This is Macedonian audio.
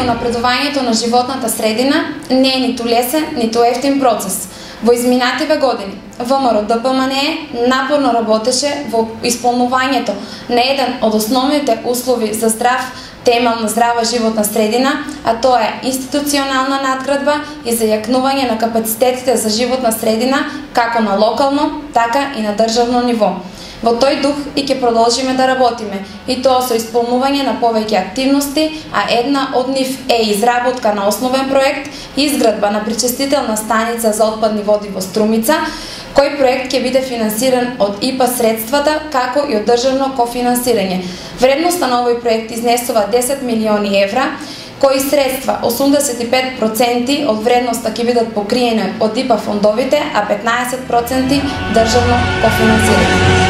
унапредувањето на животната средина не е ниту лесен, ниту ефтин процес. Во изминативе години, ВМРО ДПМНЕ напорно работеше во исполнувањето на еден од основните услови за здрав темелна здрава животна средина, а тоа е институционална надградба и зајакнување на капацитетите за животна средина како на локално, така и на државно ниво. Во тој дух и ќе продолжиме да работиме, и тоа со исполнување на повеќе активности, а една од нив е изработка на основен проект и изградба на пречистителна станица за отпадни води во Струмица, кој проект ќе биде финансиран од ИПА средствата, како и од државно кофинансирање. Вредноста на овој проект изнесува 10 милиони евра, кои средства 85% од вредноста ќе бидат покриени од ИПА фондовите, а 15% државно кофинансирање.